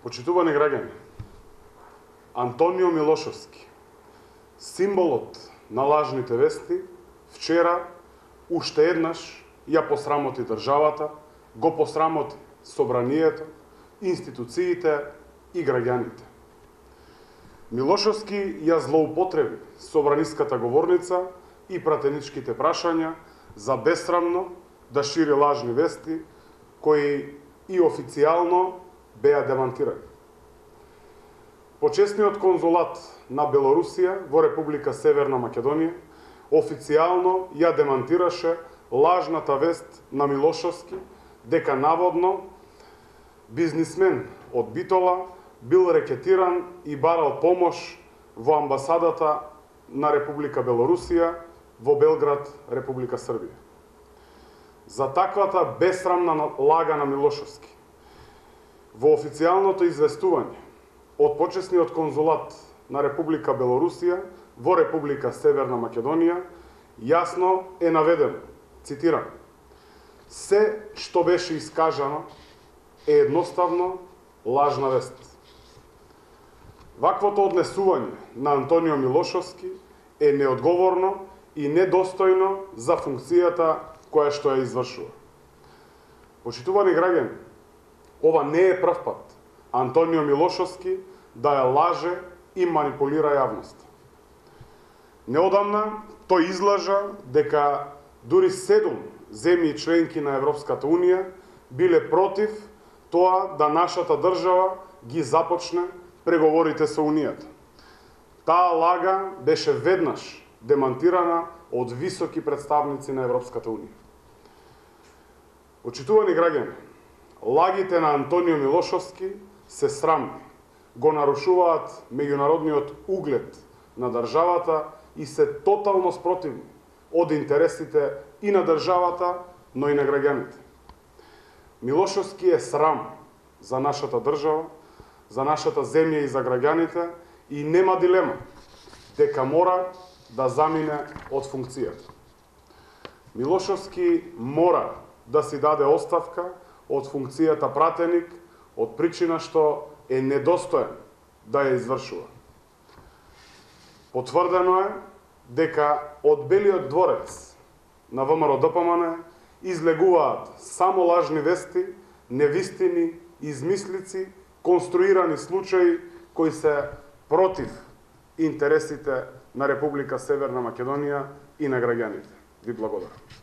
Почитувани граѓани, Антонио Милошовски, символот на лажните вести, вчера уште еднаш ја посрамоти државата, го посрамоти собранието, институциите и граѓаните. Милошовски ја злоупотреби собраниската говорница и пратеничките прашања за бесрамно да шири лажни вести, кои и официјално беа демантирани. Почесниот конзулат на Белорусија во Република Северна Македонија официјално ја демантираше лажната вест на Милошовски дека наводно бизнисмен од Битола бил рекетиран и барал помош во амбасадата на Република Белорусија во Белград, Република Србија. За таквата бесрамна лага на Милошовски во официјалното известување од почесниот конзулат на Република Белорусија во Република Северна Македонија јасно е наведено, цитирам: "Се што беше искажано е едноставно лажна вест." Ваквото однесување на Антонио Милошовски е неодговорно и недостојно за функцијата која што ја извршува. Почитувани граѓани, ова не е прв пат Антонио Милошовски да ја лаже и манипулира јавноста. Неодамна тој излажа дека дури 7 земји членки на Европската Унија биле против тоа да нашата држава ги започне преговорите со Унијата. Таа лага беше веднаш демантирана од високи представници на Европската Унија. Почитувани граѓани, лагите на Антонио Милошовски се срамни, го нарушуваат меѓународниот углед на државата и се тотално спротивни од интересите и на државата, но и на граѓаните. Милошовски е срам за нашата држава, за нашата земја и за граѓаните и нема дилема дека мора да замине од функцијата. Милошовски мора да си даде оставка од функцијата пратеник од причина што е недостоен да ја извршува. Потврдено е дека од Белиот дворец на ВМРО-ДПМН излегуваат само лажни вести, невистини, измислици, конструирани случаи кои се против интересите на Република Северна Македонија и на граѓаните. Ви благодарам.